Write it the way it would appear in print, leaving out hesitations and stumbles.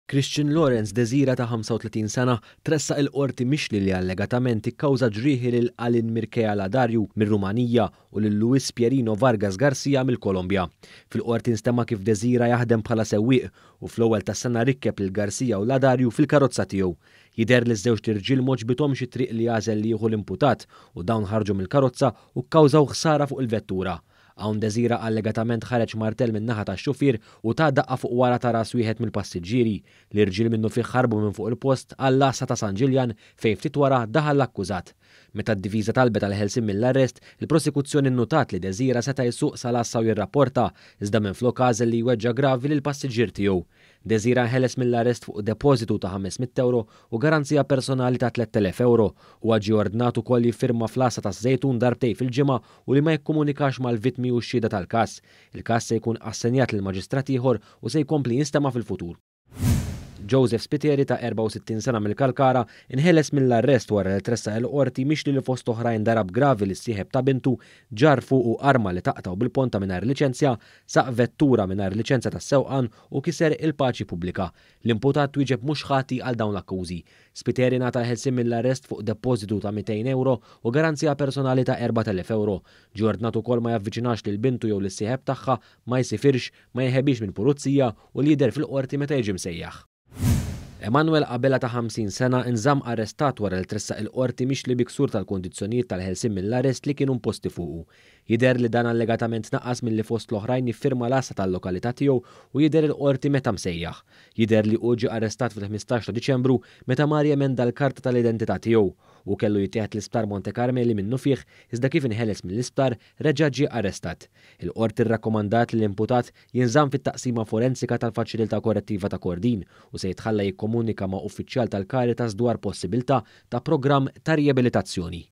Christian Lawrence Desira ta' 35 sena tressaq il-Qorti mixli li allegatament ikkawża ġrieħi lil Alin Mircea Ladariu mir-Rumanija u lil Luis Pierino Vargas Garcia mill-Kolombja. Fil-Qorti nstema' kif Desira jaħdem bħala sewwieq u fl-ewwel tas-sena rikkeb lil Garcia u Ladariu fil-karozza tiegħu. Jidher li ż-żewġt irġiel m'għoġbithomx it-triq li għażel li jieħu l-imputat u dawn ħarġu mill-karozza u kkawżaw ħsara fuq il-vettura. Hawn Desira allegatament ħareġ martell min-naħa tax-xufier u ta daqqa fuq wara ta' ras wieħed mill-passiġġieri. L-irġiel minnufih ħarbu minn fuq il-post għall-għassa ta' San Ġiljan fejn ftit wara daħal l-akkużat. Meta d-difiża talbet għall-ħelsien mill-arrest, il-prosekuzzjoni nnutat li Desira seta' jsuq sal-għassa u jirrapporta, iżda minflok għażel li jweġġa' gravi lill-passiġġier tiegħu. Desira nħeles mill-arrest fuq depożitu ta' 500 ewro u garanzija personali ta' 3,000 ewro. Huwa ġie ordnat ukoll jiffirma fl-għassa taż-Żejtun darbtejn fil-ġimgħa u li ma jikkomunikax mal-vittmi u x-xhieda tal-każ. Il-każ se jkun assenjat lil maġistrat ieħor u se jkompli jinstema' fil-futur. Joseph Spiteri ta' 64 sena mill-Kalkara inħeles mill-arrest wara li tressaq il-Qorti mixli li fost oħrajn darab gravi lis-sieħeb ta' bintu, ġarr fuqu arma li taqtgħu bil-ponta mingħajr liċenzja, saq vettura mingħajr liċenzja tas-sewqan u kiser il-paċi pubblika. L-imputat twieġeb mhux ħati għal dawn l-akkużi. Spiteri ngħata l-ħelsien mill-arrest fuq depożitu ta' 200 ewro u garanzija personali ta' 4,000 ewro. Ġie ordnat ukoll ma javviċinax lil bintu jew lis-sieħeb tagħha, ma jsifirx, ma jinħebix minn pulizija u li jidher fil-Qorti meta jiġi msejjaħ. Emanuel Abela ta' 50 sena nżamm arrestat wara li tressaq il-Qorti mixli bi ksur tal-kundizzjonijiet tal-ħelsien mill-arrest li kienu imposti fuqu. Jidher li dan allegatament naqas milli fost l-oħrajn jiffirma l-għassa tal-lokalità tiegħu u jidher il-Qorti meta msejjaħ. Jidher li hu ġie arrestat fil-15 ta' Diċembru meta mar jemenda l-karta tal-identità tiegħu. Hu kellu jittieħed l-Isptar Monte Carmeli minnufih iżda kif inħeles mill-isptar reġa' ġie arrestat. Il-Qorti rrakkomandat li l-imputat jinżamm fit-Taqsima Forensika tal-Faċilità Korrettiva ta' Kordin u se jitħalla jikkomunika ma' uffiċjal tal-Caritas dwar possibilità ta' programm ta' riabilitazzjoni.